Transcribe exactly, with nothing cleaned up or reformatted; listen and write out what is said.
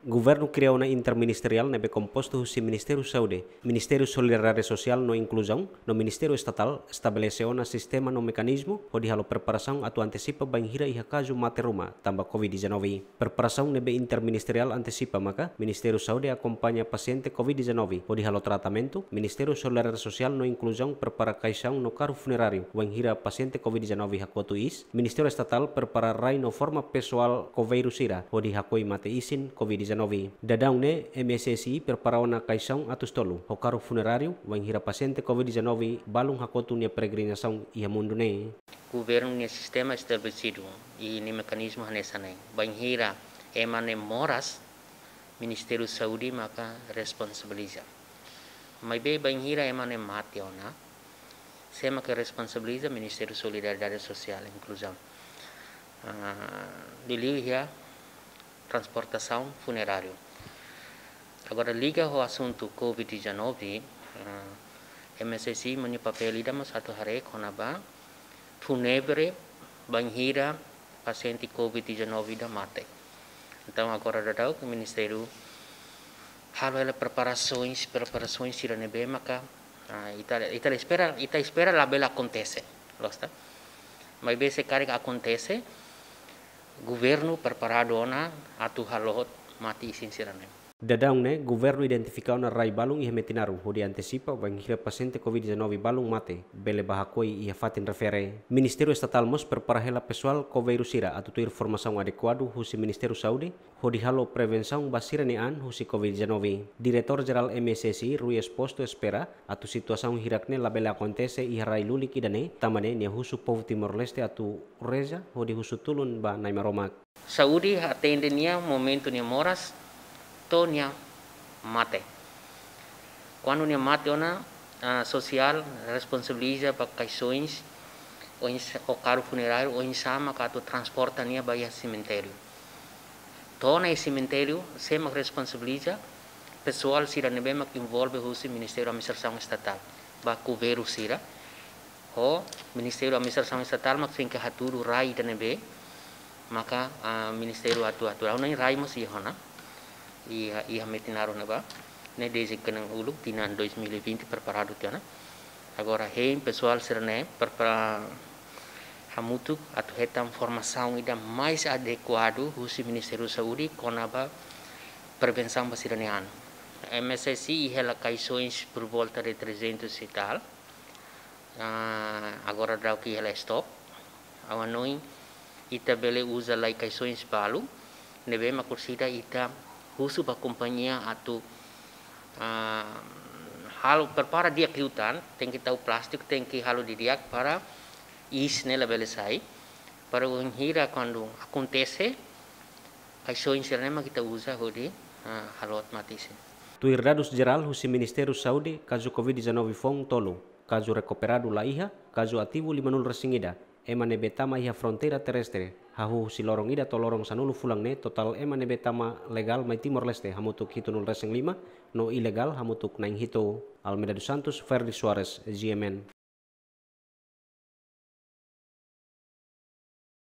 Governu kria ona interministeriál ne'ebé kompostu husi Ministériu Saúde, Ministériu Solidariedade Sosiál no Inkluzaun, no Ministériu Estatál estabelese ona sistema no mekanizmu hodi halo preparasaun atu antesipa bainhira iha kazu mate ruma tanba covid dezanove. Preparasaun ne'ebé interministeriál antesipa maka Ministériu Saúde akompaña pasiente covid dezanove hodi halo tratamentu, Ministériu Solidariedade Sosiál no Inkluzaun prepara kaixaun no karru funeráriu wainhira pasiente covid dezanove hakotu iis, Ministériu Estatál prepara rai no forma pesoál koveiru sira hodi hakoi mate isin covid dezanove. Daudaun ne'e M S S I prepara ona kaixaun atus tolu ho karru funeráriu wainhira pasiente covid dezanove balun hakotu nia peregrinasaun iha mundu ne'e. Governu nia sistema estabelesidu i nia mekanizmu hanesan ne'e. Bainhira ema ne'e moras, Ministériu Saúde maka responsabiliza. Maibé bainhira ema ne'e mate ona, sé maka responsabiliza? Ministériu Solidariedade Sosiál Inkluzaun. Ah, liuliu iha transportasaun funeráriu. Agora liga ho asuntu covid dezanove, ah, M S S I nia papél ida mós atu haree kona-ba fúnebre bainhira pasiente covid dezanove ida mate. Entaun agora daudaun ke Ministériu halo hela preparasoens, preparasoens sira ne'ebé maka, ah, ita, ita espera, ita espera labele akontese, loos ka? Maibé se karik akontese, governu preparadu ona atu halo mate isin sira ne'e. Daudaun ne'e, governu identifika ona rai balun iha Metinaro hodi antesipa bainhira pasiente covid dezanove balun mate bele bá hakoi iha fatin refere. Ministériu Estatál mós prepara hela pesoál koveiru sira atu tuir formasaun adekuadu husi Ministériu Saúde hodi halo prevensaun ba sira-nia an husi covid dezanove. Diretór Jerál M S S I, Rui Exposto, espera atu situasaun hirak ne'e labele akontese iha rai lulik ida-ne'e, tanba ne'e nia husu povu Timor-Leste atu reza hodi husu tulun ba Nai Maromak. Saúde atende nia momentu nia moras to'o nia mate. Kuandu nia mate ona, ah, sosiál responsabiliza ba kaixoens, oinsá, ho karru funeráriu, oinsá maka atu transporta nia ba iha semitériu. To'o ona iha semitériu, sé mak responsabiliza? Pesoál sira ne'ebé mak envolve husi Ministériu Administrasaun Estatál, ba koveiru sira. Ho Ministériu Administrasaun Estatál mak tenke hatudu rai ida ne'ebé maka, ah, Ministériu atu, atu. Ha'u-nia rai mós iha ona, iha, iha Metinaro ne'ebá. Ne'e dezde kedan uluk tinan dois mil e vinte preparadu tiha ona. Agora hein pesoál sira-ne'e prepara hamutuk atu hetan formasaun ida mais adekuadu husi Ministériu Saúde kona-ba prevensaun ba sira-nia an. M S S I hela kaixoens por volta de trezentos e tal. Ah, agora daudaun ke hela stok. Ha'u hanoin ita bele uza lai kaixoens balu ne'ebé mak orsida ita husu ba kompañia atu, ah, halo prepara di'ak liután, tenke tau plástiku, tenke halo didi'ak para iis ne'e labele sai. Para bainhira kuandu akontese, kaixoens sira-ne'e mak ita uza hodi, ah, halo mate isin. Tuir dadus jerál husi Ministériu Saúde, kazu covid dezanove foun tolu, kazu rekuperadu la iha, kazu ativu limanulu resin ida, ema ne'ebé tama iha fronteira terrestre, hahú husi loron ida to'o loron sanulu fulan ne'e totál ema ne'ebé tama legál mai Timor-Leste hamutuk hitunulu resin lima, no ilegál hamutuk na'in hitu. Almeida dos Santos, Ferdi Soares, G M N.